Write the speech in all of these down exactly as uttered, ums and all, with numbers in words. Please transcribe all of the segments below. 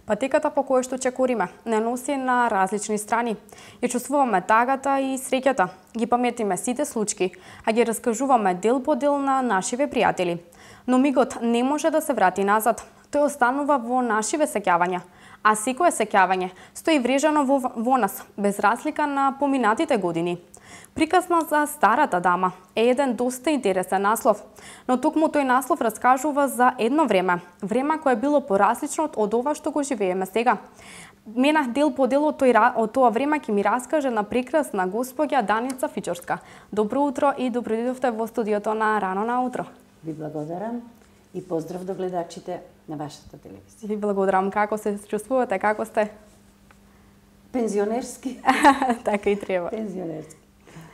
Патеката по која што чекориме не носи на различни страни. Ја чувствуваме тагата и среќата, ги паметиме сите случаи, а ги раскажуваме дел по дел на нашиве пријатели. Но мигот не може да се врати назад. Тој останува во нашиве сеќавања, а секое сеќавање стои врежано во, во нас, без разлика на поминатите години. Приказна за старата дама е еден доста интересен наслов, но токму тој наслов раскажува за едно време, време кое било поразлично од ова што го живееме сега. Менах дел по дел од, тој, од тоа време ќе ми раскаже на прекрасна господја Даница Фичорска. Добро утро и добро дојдовте во студиото на Рано на утро. Ви благодарам и поздрав до гледачите на вашата телевизија. Ви благодарам. Како се чувствувате? Како сте? Пензионерски. Така и треба. Пензионерски.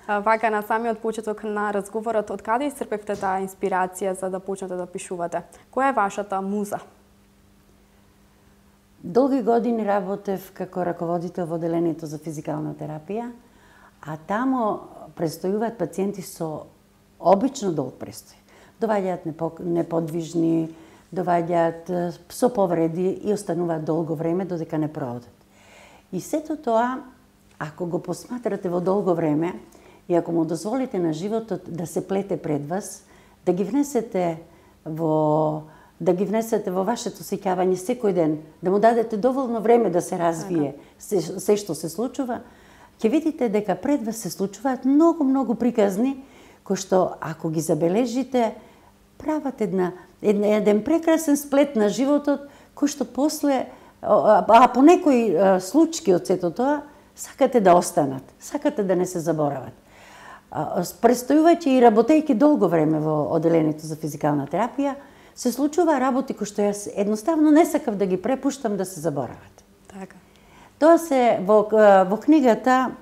Вака на самиот почеток на разговорот, од каде исцрпевте таа инспирација за да почнете да пишувате? Која е вашата муза? Долги години работев како раководител во одделението за физикална терапија, а тамо престојуваат пациенти со обично долг престој. Доваѓаат неподвижни, доваѓаат со повреди и остануваат долго време додека не проодат. И сето тоа, ако го посматрате во долго време, и ако му дозволите на животот да се плете пред вас, да ги внесете во да ги внесете во вашето сеќавање секој ден, да му дадете доволно време да се развие се, се што се случува, ќе видите дека пред вас се случуваат многу многу приказни кои што ако ги забележите прават една еден прекрасен сплет на животот кој што после а, а по некои случаи од сето тоа сакате да останат, сакате да не се заборават. Престојувајќи и работејќи долго време во одделението за физикална терапија, се случува работи кои што јас едноставно не сакав да ги препуштам да се заборават. Така. Тоа се во, во книгата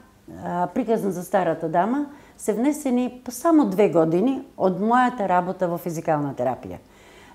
Приказна за старата дама се внесени само две години од мојата работа во физикална терапија.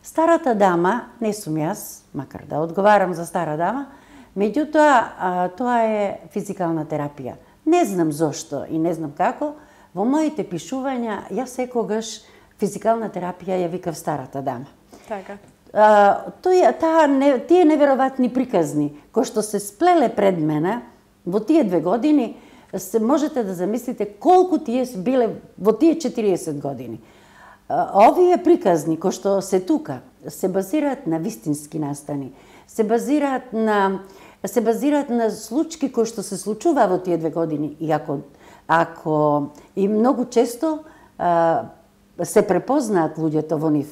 Старата дама не сум јас, макар да одговарам за стара дама, меѓутоа тоа е физикална терапија. Не знам зошто и не знам како, во моите пишувања јас секогаш физикална терапија ја викав старата дама. Така. А, тој, таа, не, тие неверојатни приказни кои што се сплеле пред мене во тие две години, се можете да замислите колку тие биле во тие четириесет години. А, овие приказни кои што се тука се базираат на вистински настани, се базираат на се базираат на случаи кои што се случува во тие две години и ако ако и многу често а, се препознаат луѓето во нив.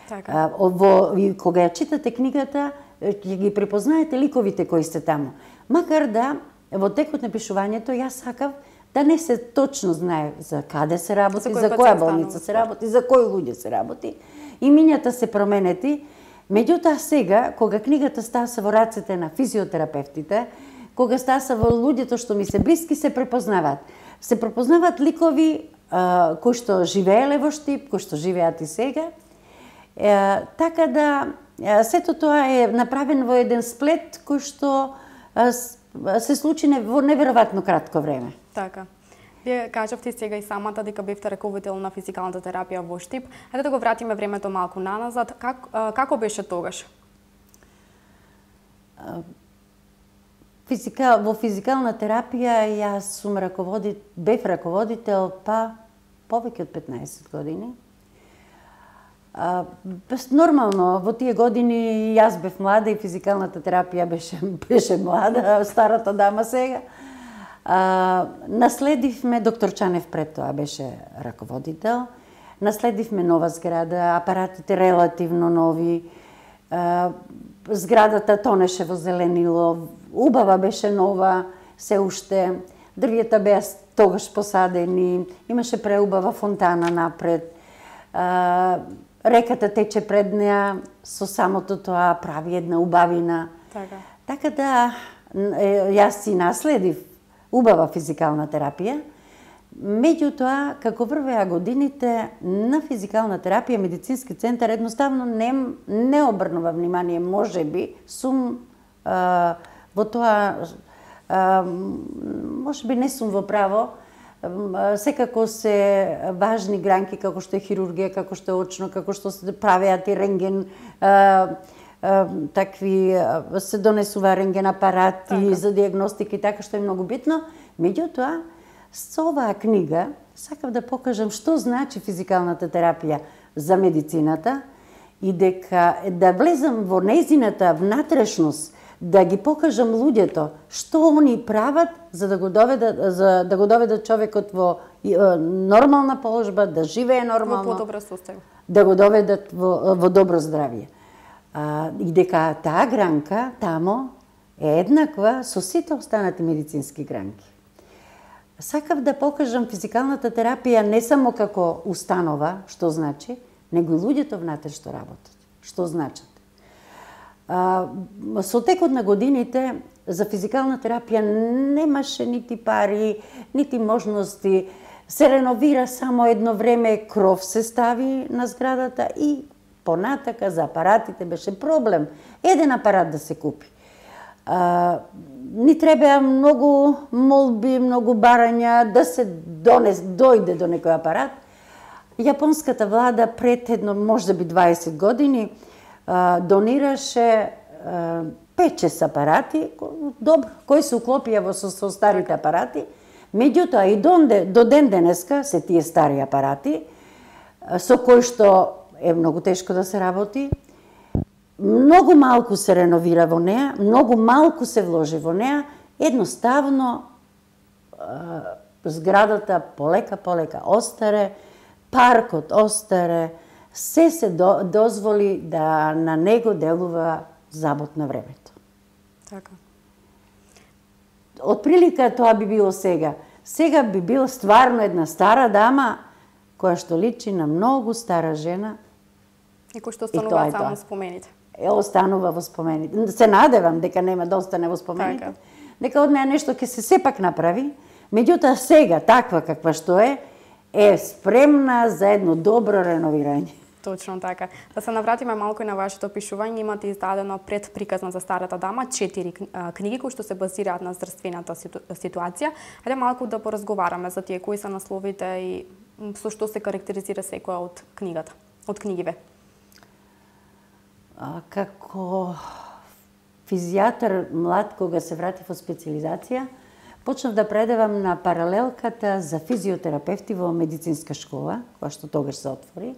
Така. А, во, и кога ја читате книгата, ќе ги препознаете ликовите кои се таму. Макар да во текот на пишувањето јас сакав да не се точно знае за каде се работи, за, за која болница се работи, за кои луѓе се работи. Имињата се променети. Меѓутоа сега, кога книгата стаса во рацете на физиотерапевтите, кога стаса во луѓето што ми се блиски, се препознаваат. Се препознаваат ликови а, кои што живееле во Штип, кои што живеат и сега. Е, така да, е, сето тоа е направено во еден сплет кој што е, се случи во неверојатно кратко време. Така. Вие кажавте сега и самата дека бевте раководител на физикалната терапија во Штип. Ајде да го вратиме времето малку наназад. Как, како беше тогаш? Физикал, во физикална терапија јас сум раководител, бев раководител па повеќе од петнаесет години. А, нормално, во тие години јас бев млада и физикалната терапија беше, беше млада, старата дама сега. А, наследивме, доктор Чанев пред тоа беше раководител, наследивме нова зграда, апаратите релативно нови, а, зградата тонеше во зеленило, убава беше нова, се уште, дрвјата беа тогаш посадени, имаше преубава фонтана напред, а, реката тече пред неа, со самото тоа прави една убавина. Така. Така да, јас си наследив убава физикална терапија. Меѓутоа, како врвеа годините на физикална терапија, медицински центар едноставно не, не обрнува внимание, може би, сум а, во тоа, а, може би не сум во право, секако се важни гранки како што е хирургија, како што е очно, како што се правеат и рентген, такви се донесува рентген апарати така. За диагностика и така, што е многу битно. Меѓутоа, со оваа книга сакав да покажам што значи физикалната терапија за медицината и дека да влезам во нејзината внатрешност, да ги покажам луѓето што они прават за да го доведат за да го доведат човекот во нормална положба, да живее нормално, во подобро состојба, да го доведат во, во добро здравје. А, и дека таа гранка тамо е еднаква со сите останати медицински гранки. Сакав да покажам физикалната терапија не само како установа, што значи, него и луѓето внатре што работат, што значат. А, со текот на годините за физикална терапија немаше нити пари, нити можности. Се реновира само едно време, кров се стави на зградата и понатака за апаратите беше проблем. Еден апарат да се купи. А, ни требеа многу молби, многу барања да се донес, дојде до некој апарат. Јапонската влада пред едно, може би дваесет години, а, донираше пет-шест апарати, добро, кои се уклопија во со, со старите апарати. Меѓутоа и до, до ден денеска се тие стари апарати, со кои што е многу тешко да се работи. Многу малку се реновира во неа, многу малку се вложи во неа, едноставно зградата полека полека остаре, паркот остаре, се се до, дозволи да на него делува забот на времето. Така. Отприлика тоа би било сега. Сега би била стварно една стара дама која што личи на многу стара жена. И кој што останува само спомените. Е, останува во спомените. Се надевам дека нема да остане во спомените. Така. Дека од неа нешто ќе се сепак направи. Меѓутоа сега, таква каква што е, е спремна за едно добро реновирање. Точно така. Да се навратиме малку и на вашето опишување, имате издадено пред приказна за старата дама четири книги кои што се базираат на здравствената ситуација. Ајде малку да поразговараме за тие кои се насловите и со што се карактеризира секоја од книгата, од книгиве. А, како физијатар млад кога се вратив од специализација, почнав да предавам на паралелката за физиотерапевти во медицинска школа, која што тогаш се отвори.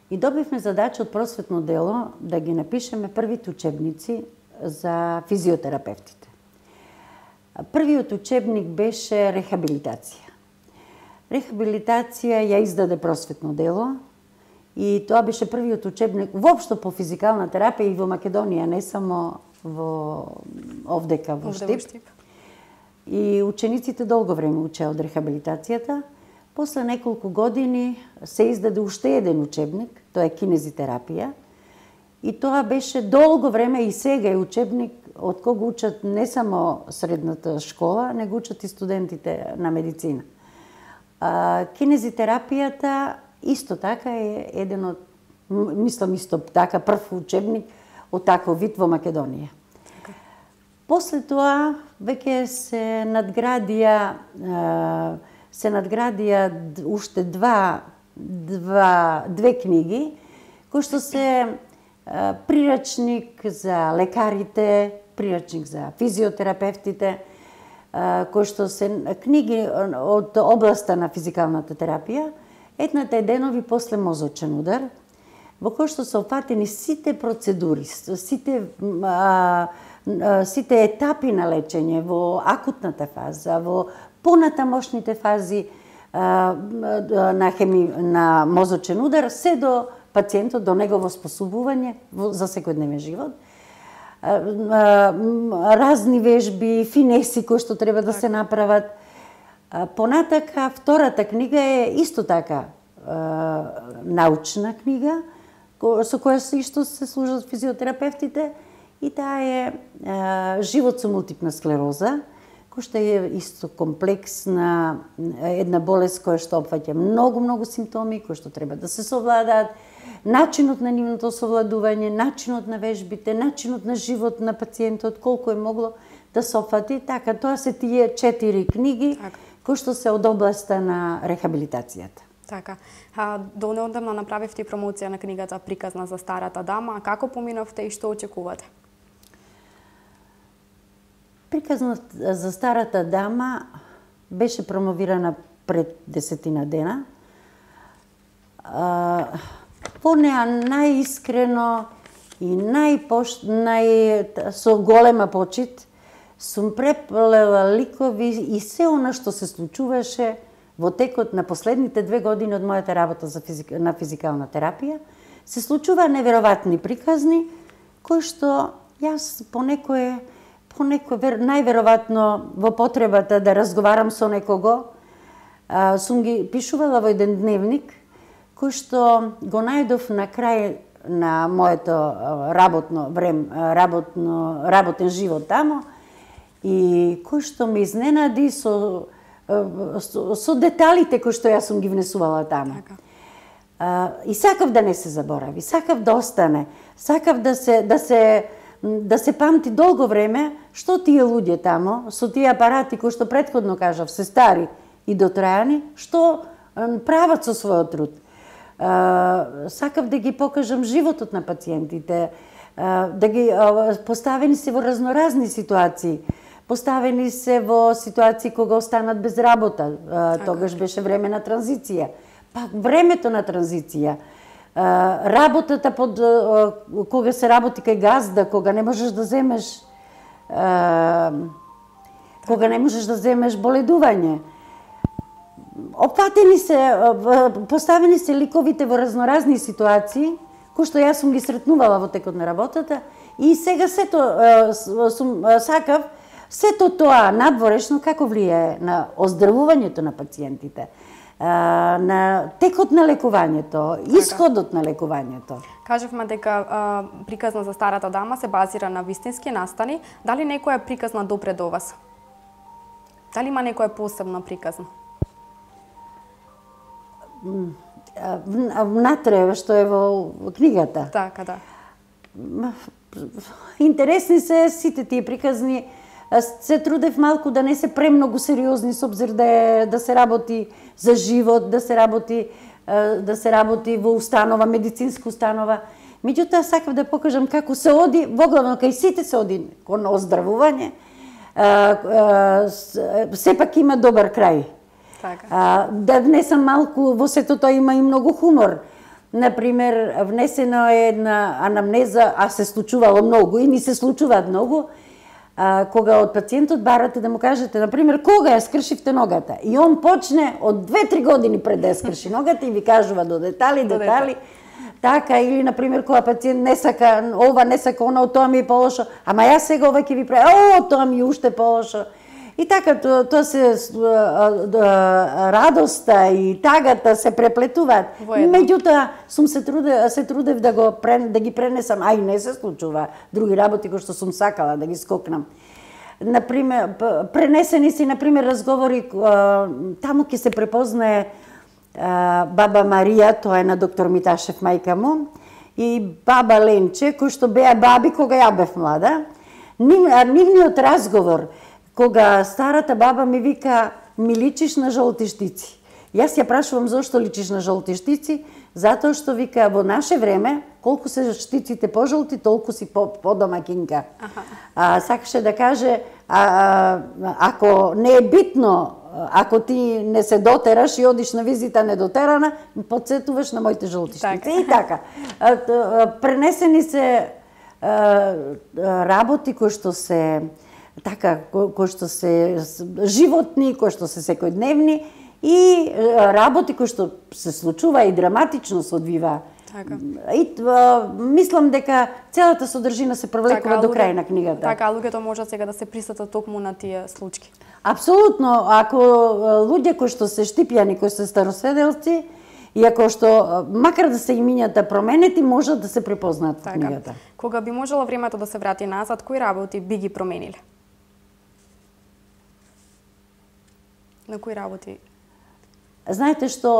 И добивме задача од просветно дело да ги напишеме првите учебници за физиотерапевтите. Првиот учебник беше рехабилитација. Рехабилитација ја издаде просветно дело и тоа беше првиот учебник воопшто по физикална терапија и во Македонија, не само во овдека во Штип. И учениците долго време учеа од рехабилитацијата. После неколку години се издаде уште еден учебник, тоа е кинезитерапија. И тоа беше долго време и сега е учебник од кога учат не само средната школа, него учат и студентите на медицина. А, кинезитерапијата исто така е еден од, мислам исто така, прв учебник од таков вид во Македонија. После тоа веќе се надградија се надградија уште два, два, две книги, кои што се а, прирачник за лекарите, прирачник за физиотерапевтите, а, кои што се книги од областа на физикалната терапија. Едната е Денови после мозочен удар, во кој што се опфатени сите процедури, сите, а, сите етапи на лечење во акутната фаза, во понатамошните фази а, на, хеми, на мозочен удар, се до пациентот, до негово способување за секојдневен живот. А, а, разни вежби, финеси кои што треба да се направат. А, понатака, втората книга е исто така а, научна книга, со која се исто се служат физиотерапевтите, и таа е а, Живот со мултипна склероза, кој што е исто комплексна, една болест која што опфаќа многу, многу симптоми, кои што треба да се совладаат, начинот на нивното совладување, начинот на вежбите, начинот на живот на пациентот, колку е могло да се опфати. Така, тоа се тие четири книги, така, кои што се од областа на рехабилитацијата. Така. А, до неодамна направивте промоција на книгата Приказна за старата дама. Како поминавте и што очекувате? Приказна за старата дама беше промовирана пред десетина дена. А, по неа најискрено и најпош... нај... со голема почит сум преплела ликови и се она што се случуваше во текот на последните две години од мојата работа за физик... на физикална терапија. Се случува неверојатни приказни, кои што јас понекое, понекое најверојатно во потребата да разговарам со некого, а, сум ги пишувала во еден дневник, кој што го најдов на крај на моето работно време, работно, работен живот тамо, и кој што ме изненади со, со, со деталите кои што јас сум ги внесувала тамо. Така. А, и сакав да не се заборави, сакав да остане, сакав да се, да се, да се памти долго време што тие луѓе тамо, со тие апарати кои што претходно кажав, се стари и дотрајани, што прават со својот труд. Uh, сакав да ги покажам животот на пациентите, uh, да ги uh, поставени се во разноразни ситуации, поставени се во ситуации кога останат без работа, uh, тогаш беше време на транзиција, пак времето на транзиција, uh, работата под uh, кога се работи кај газда, кога не можеш да земеш uh, кога не можеш да земеш боледување. Опатени се, поставени се ликовите во разноразни ситуации, кои што јас сум ги сретнувала во текот на работата, и сега сето сум сакав сето тоа надворешно како влијае на оздравувањето на пациентите, на текот на лекувањето, исходот на лекувањето. Кажавме дека а, Приказна за старата дама се базира на вистински настани. Дали некоја приказна допре до вас? Дали има некоја посебна приказна? Внатре, што е во книгата. Така, да. Интересни се сите тие приказни. Се трудев малку да не се премногу сериозни, со обзир да, е, да се работи за живот, да се работи, да се работи во установа, медицинска установа. Меѓутоа, сакав да покажам како се оди, воглавно кај сите се оди кон оздравување, сепак има добар крај. Така. А, да внесам малку, во сето тоа има и многу хумор. Например, внесено е една анамнеза, а се случувало многу и ни се случуваат многу, а, кога од пациентот барате да му кажете, например, кога ја скршивте ногата. И он почне од две-три години пред да ја скрши ногата и ви кажува до детали, до детали. Така, или, например, кога пациент не сака ова, не сака она, тоа ми е полошо, ама јас сега ова ќе ви прави, о, тоа ми е уште полошо. И така, тоа, тоа се радоста и тагата се преплетуваат. Меѓутоа, сум се трудев, се трудев да го да ги пренесам, а и не се случува други работи кои што сум сакала да ги скокнам. Например, пренесени си, например, разговори, таму ќе се препознае баба Марија, тоа е на доктор Миташев мајка му, и баба Ленче, кои што беа баби кога ја бев млада. Нивниот разговор, кога старата баба ми вика, ми личиш на жолти штици. Јас ја прашувам зошто личиш на жолти штици, затоа што вика во наше време, колку се штиците пожолти, толку си по, по домакинка. А, сакаше да каже, а, а, ако не е битно, ако ти не се дотераш и одиш на визита недотерана, подсетуваш на моите жолти штици. Така. И така. А, а, пренесени се а, работи кои што се така, кои што се животни, кои што се секојдневни, и работи кои што се случува и драматично се одвива. Така. И а, мислам дека целата содржина се провлекува до крај на книгата. Така, луѓето можат сега да се присетат токму на тие случаи. Апсолутно, ако луѓе кои што се штипјани, кои се старосведелци, и ако што макар да се имињата променети, можат да се препознаат во книгата. Кога би можело времето да се врати назад, кои работи би ги промениле? На кои работи? Знаете што,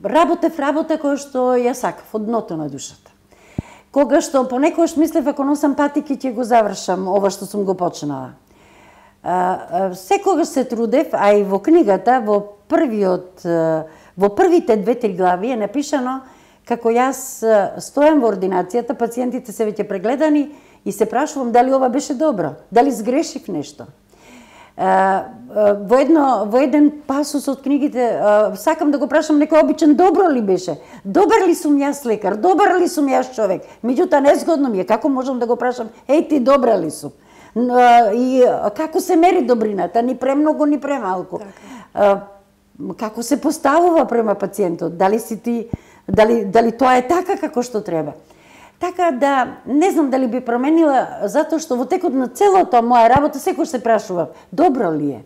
работев работа која што ја сакав од дното на душата. Кога што понекогаш мислев ако носам патики ќе го завршам ова што сум го почнала. секогаш се трудев, а и во книгата, во првиот, во првите две-три глави е напишано како јас стојам во ординацијата, пациентите се веќе прегледани и се прашувам дали ова беше добро, дали сгрешив нешто. Во едно во еден пасус од книгите сакам да го прашам некој обичен добро ли беше? Добар ли сум јас лекар? Добар ли сум јас човек? Меѓутоа незгодно ми е како можам да го прашам еј ти добра ли сум? И како се мери добрината, ни премногу, ни премалку. Како се поставува према пациентот? Дали си ти дали дали тоа е така како што треба? Така да, не знам дали би променила, затоа што во текот на целото моја работа секој се прашува, добро ли е?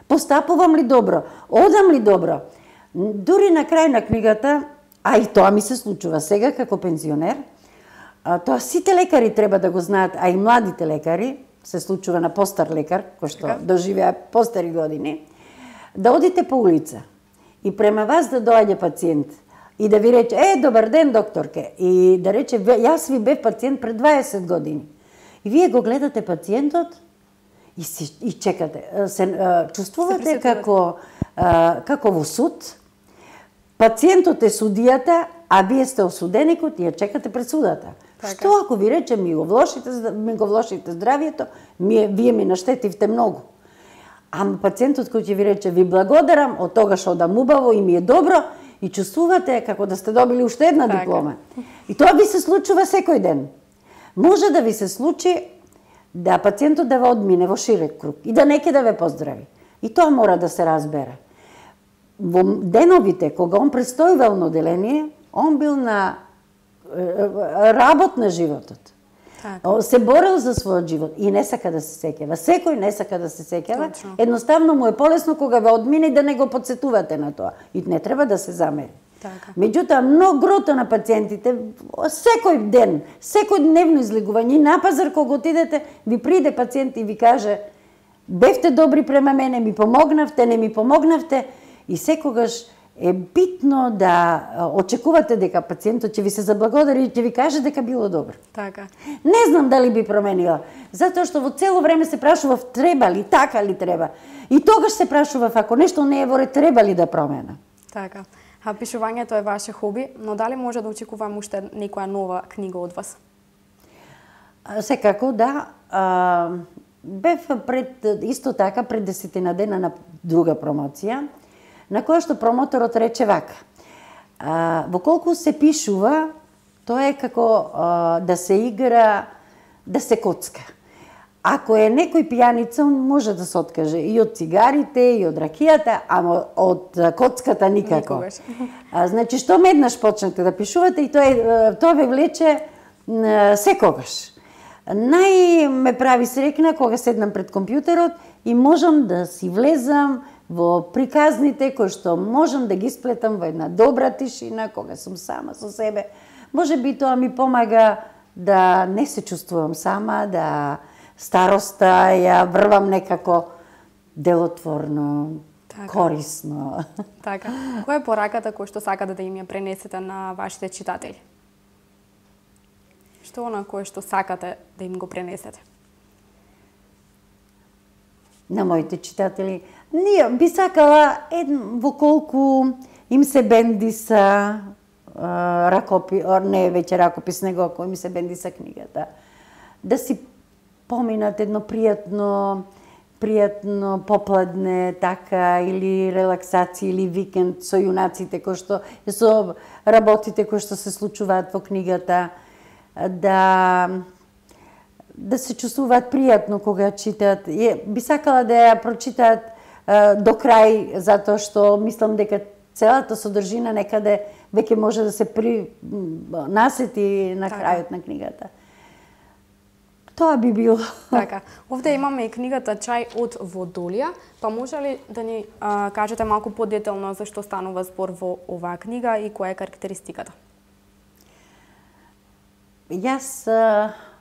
Постапувам ли добро? Одам ли добро? Дури на крај на книгата, а и тоа ми се случува сега како пензионер, тоа сите лекари треба да го знаат, а и младите лекари, се случува на постар лекар, кој што доживеа постари години, да одите по улица и према вас да доаѓа пациент и да ви рече, е, добар ден, докторке, и да рече, јас ви бев пациент пред дваесет години. И вие го гледате пациентот и, си, и чекате. Се чувствувате како, како во суд, пациентот е судијата, а вие сте осуденикот и ја чекате пред судата. Така. Што ако ви рече, ми го влошите, ми го влошите здравието, ми, вие ми наштетивте многу. Ама пациентот кој ќе ви рече, ви благодарам, од тогаш одам убаво и ми е добро, и чувствувате како да сте добили уште една така. Диплома. И тоа ви се случува секој ден. Може да ви се случи да пациентот да ве одмине во широк круг и да неќе да ве поздрави. И тоа мора да се разбере. Во деновите, кога он престојувал на оделение, он бил на работ на животот. Така. Се борел за својот живот и не сака да се сеќава. Секој не сака да се сеќава. Едноставно му е полесно кога ве одмине да не го потсетувате на тоа. И не треба да се замери. Така. Меѓутоа, многото на пациентите, секој ден, секој дневно излегување, на пазар кога отидете, ви приде пациент и ви каже, бевте добри према мене, ми помогнавте, не ми помогнавте, и секогаш е битно да очекувате дека пациентот ќе ви се заблагодари и ќе ви каже дека било добро. Така. Не знам дали би променила, затоа што во цело време се прашував треба ли, така ли треба. И тогаш се прашував ако нешто не е во ред, треба ли да промена. Така. А пишувањето е ваше хоби, но дали може да очекуваме уште некоја нова книга од вас? Секако, да. А, бев пред, исто така, пред десетина дена на друга промоција, на која што промоторот рече вака. А, во колку се пишува, тоа е како а, да се игра, да се коцка. Ако е некој пијаница, он може да се откаже и од цигарите, и од ракијата, ама од коцката никако. А, значи, што еднаш почнете да пишувате и тоа, тоа ве влече а, секогаш. Нај ме прави срекна кога седнам пред компјутерот и можам да си влезам во приказните кои што можам да ги сплетам во една добра тишина, кога сум сама со себе. Може би тоа ми помага да не се чувствувам сама, да староста ја врвам некако делотворно, така. Корисно. Така. Која е пораката која што сакате да им ја пренесете на вашите читатели? Што она кое што сакате да им го пренесете? На моите читатели, ние би сакала едн, во колку им се бендиса а, ракопи, не веќе ракопис, него кој им се бендиса книгата, да си поминат едно пријатно, пријатно попладне, така, или релаксација, или викенд со јунаците, кои што, со работите кои што се случуваат во книгата, да да се чувствуваат пријатно кога читаат. Би сакала да ја прочитаат а, до крај, затоа што мислам дека целата содржина некаде веќе може да се при насети на крајот на книгата. Тоа би било. Така. Овде имаме и книгата Чај од водолија, па може ли да ни а, кажете малку подетелно за што станува збор во оваа книга и која е карактеристиката? Јас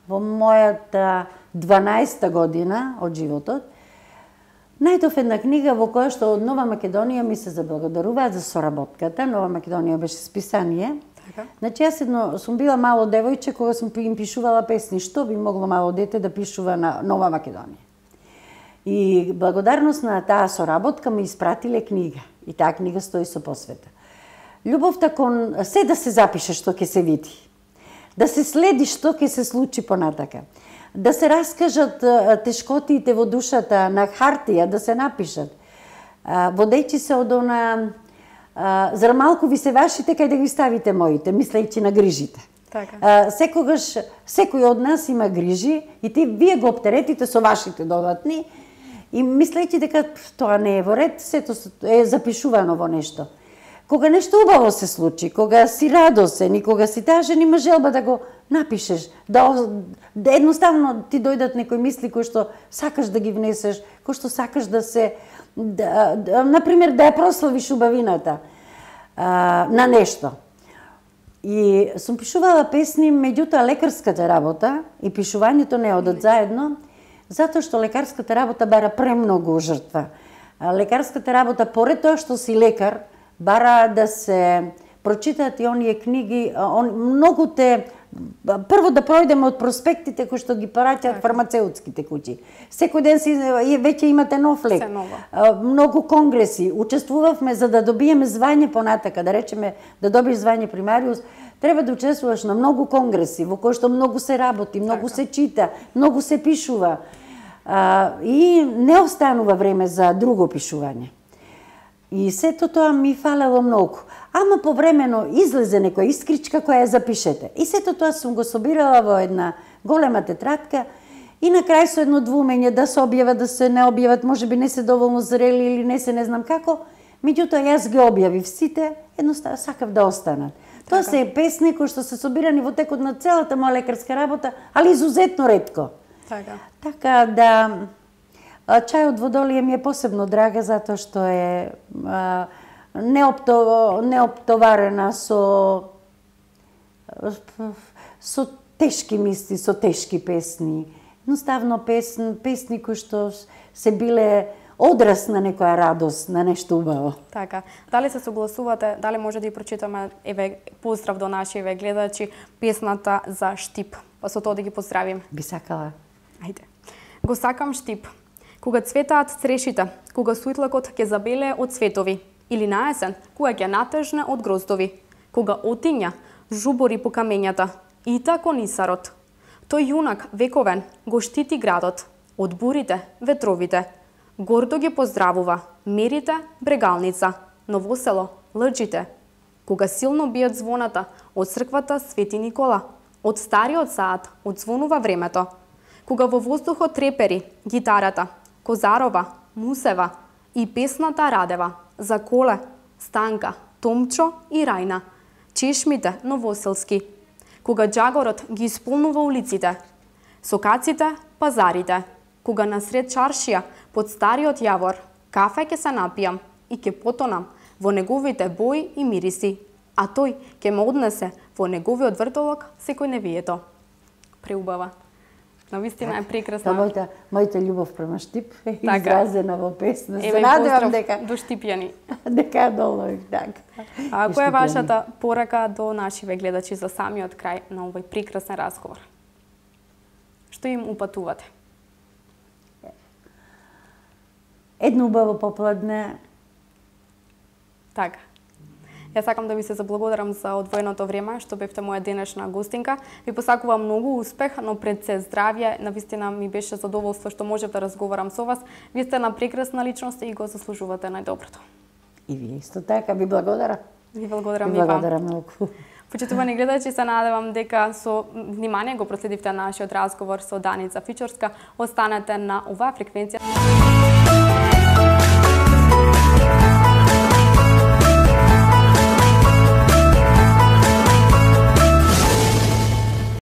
во мојата дванаесета година од животот најдов една книга во која што од Нова Македонија ми се заблагодаруваат за соработката. Нова Македонија беше списание. Така. Значи јас едно сум била мало девојче кога сум им пишувала песни. Што би могло мало дете да пишува на Нова Македонија? И благодарност на таа соработка ми испратиле книга. И таа книга стои со посвета. Љубовта кон се да се запише што ќе се види. Да се следи што ќе се случи понатака. Да се раскажат тешкотиите во душата на хартија, да се напишат. Водејќи се од она, зар малку ви се вашите, кај да ги ставите моите, мислејќи на грижите. Така. Секогаш, секој од нас има грижи и ти, вие го оптеретите со вашите додатни и мислејќи дека тоа не е во ред, сето е запишувано во нешто. Кога нешто убаво се случи, кога си радосен и кога си тажен, има желба да го напишеш, да, да едноставно ти дојдат некои мисли кои што сакаш да ги внесеш, кои што сакаш да се, да, да, например, да ја прославиш убавината а, на нешто. И сум пишувала песни, меѓутоа лекарската работа и пишувањето не одат заедно, затоа што лекарската работа бара премногу жртва. Лекарската работа, поред тоа што си лекар, бара да се прочитаат и оние книги, он, многу те, прво да пројдеме од проспектите кои што ги праќаат фармацеутските куќи. Секој ден си веќе имате нов лек. Многу конгреси, учествувавме за да добиеме звање понатака, да речеме да добиеш звање примариус, треба да учествуваш на многу конгреси во кои што многу се работи, многу се чита, многу се пишува. А, и не останува време за друго пишување. И сето тоа ми фалело многу. Ама повремено излезе некоја искричка која ја запишете. И сето тоа сум го собирала во една голема тетрадка и на крај со едно двумење да се објават, да се не објават, можеби не се доволно зрели или не се не знам како, меѓутоа јас ги објавив сите, едноставно сакав да останат. Тоа се песни кои што се собирани во текот на целата моја лекарска работа, али изузетно ретко. Така. Така да чајот во Долие ми е посебно драга затоа што е а, неопто, неоптоварена со со тешки мисли, со тешки песни. Едноставно песни, песни кои што се биле одраз на некоја радост, на нешто убаво. Така. Дали се согласувате, дали може да ја прочитаме, еве, поздрав до нашиве гледачи, песната за Штип, па со тоа да ги поздравим? Би сакала. Ајде. Го сакам Штип. Кога цветаат црешите, кога сујтлакот ќе забеле од цветови, или на есен, кога ќе натежне од гроздови, кога отиња жубори по камењата, и тако нисарот. Тој јунак вековен го штити градот, од бурите, ветровите, гордо ги поздравува, мерите, брегалница, Новосело, лъджите, кога силно бијат звоната од црквата Свети Никола, од стариот саат одзвонува времето, кога во воздухот трепери гитарата, Козарова, Мусева и песната Радева, за Коле, Станка, Томчо и Рајна, чешмите новоселски, кога джагорот ги исполнува улиците, сокаците, пазарите, кога насред чаршија под стариот јавор, кафе ќе се напијам и ќе потонам во неговите бои и мириси, а тој ќе ме однесе во неговиот вртолок секој невието. Преубава. Навистина е прекрасна. Та мојата, мојата љубов према Штип е така изразена во песна. Се надевам дека до штипјани. Дека долу, така. А која е вашата порака до нашиве гледачи за самиот крај на овој прекрасен разговор? Што им упатувате? Едно убаво попладне. Така. Јас сакам да ви се заблагодарам за одвоеното време што бевте моја денешна гостинка. Ви посакувам многу успех, но пред се здравје. Навистина ми беше задоволство што можев да разговарам со вас. Вие сте една прекрасна личност и го заслужувате најдоброто. И вие исто така, ви благодарам. Ви благодарам и вам. Благодарам многу. Почитувани гледачи, се надевам дека со внимание го проследивте нашиот разговор со Даница Фичорска. Останете на оваа фреквенција.